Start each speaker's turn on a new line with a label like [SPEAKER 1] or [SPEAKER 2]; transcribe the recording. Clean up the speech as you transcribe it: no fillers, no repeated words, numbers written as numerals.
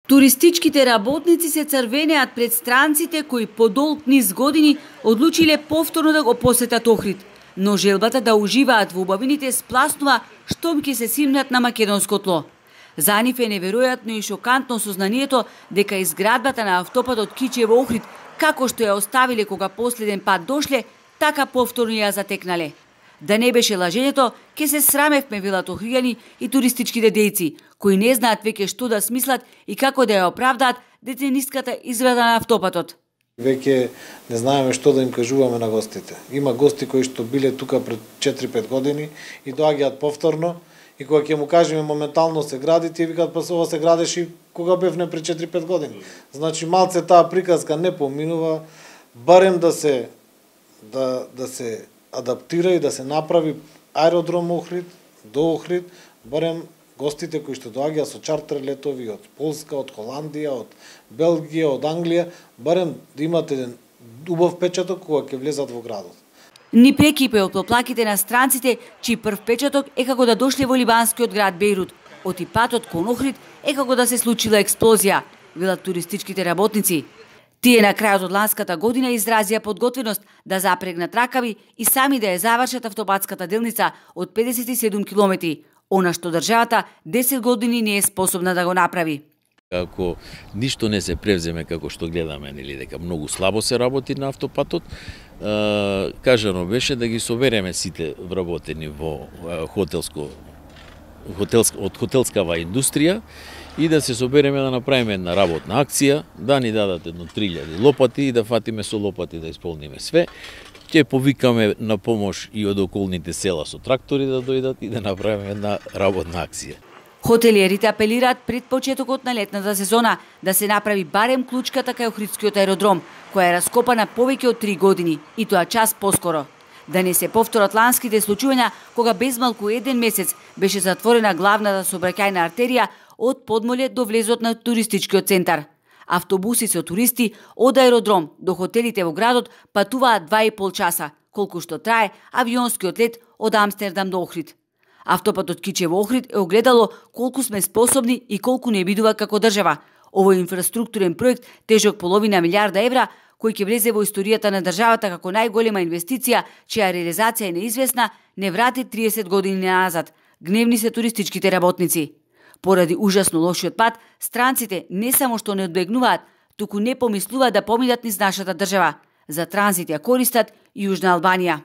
[SPEAKER 1] Туристичките работници се црвенеат пред странците кои по долг низ години одлучиле повторно да го посетат Охрид, но желбата да уживаат во убавините спласнува штом ќе се симнат на македонско тло. За нив е неверојатно и шокантно сознанието дека изградбата на автопатот Кичево Охрид, како што ја оставиле кога последен пат дошле, така повторно ја затекнале. Да не беше лажењето, ке се срамевме, велат охријани и туристичките дејци, кои не знаат веќе што да смислат и како да ја оправдаат децениската изврада на автопатот.
[SPEAKER 2] Веќе не знаеме што да им кажуваме на гостите. Има гости кои што биле тука пред 4-5 години и доаѓаат повторно и кога ќе му кажеме моментално се гради, тие викаат па ова се градеше и кога бевне пред 4-5 години. Значи малце таа приказка не поминува, барем да се адаптира и да се направи аеродром Охрид, до Охрид, барем гостите кои што доаѓаат со чартер летови од Полска, од Холандија, од Белгија, од Англија, барем да имат еден убав печаток кога ќе влезат во градот.
[SPEAKER 1] Ни прекипе од поплаките на странците, чиј прв печаток е како да дошле во либанскиот град Бејрут, оти патот кон Охрид е како да се случила експлозија, велат туристичките работници. Тие на крајот од ланската година изразија подготвеност да запрегнат ракави и сами да ја завршат автопатската делница од 57 километри, она што државата 10 години не е способна да го направи.
[SPEAKER 3] Ако ништо не се превземе како што гледаме, нели дека многу слабо се работи на автопатот, кажано беше да ги собереме сите вработени во хотелскава индустрија и да се собереме да направиме една работна акција, да ни дадат едно 3000 лопати и да фатиме со лопати да исполниме све. Ќе повикаме на помош и од околните села со трактори да дојдат и да направиме една работна акција.
[SPEAKER 1] Хотелиерите апелираат пред почетокот на летната сезона да се направи барем клучката кај Охридскиот аеродром, која е раскопана повеќе од 3 години, и тоа час поскоро. Да не се повторат ланските случувања кога безмалку еден месец беше затворена главната сообраќајна артерија од Подмоле до влезот на туристичкиот центар. Автобуси со туристи од аеродром до хотелите во градот патуваат 2,5 часа, колку што трае авионскиот лет од Амстердам до Охрид. Автопатот Кичево Охрид е огледало колку сме способни и колку не бидува како држава. Овој инфраструктурен проект тежок половина милиарда евра, кој ќе влезе во историјата на државата како најголема инвестиција, чија реализација е неизвестна, не врати 30 години назад. Гневни се туристичките работници. Поради ужасно лошиот пат, странците не само што не одбегнуваат, туку не помислуваат да поминат низ нашата држава. За транзит ја користат и Јужна Албанија.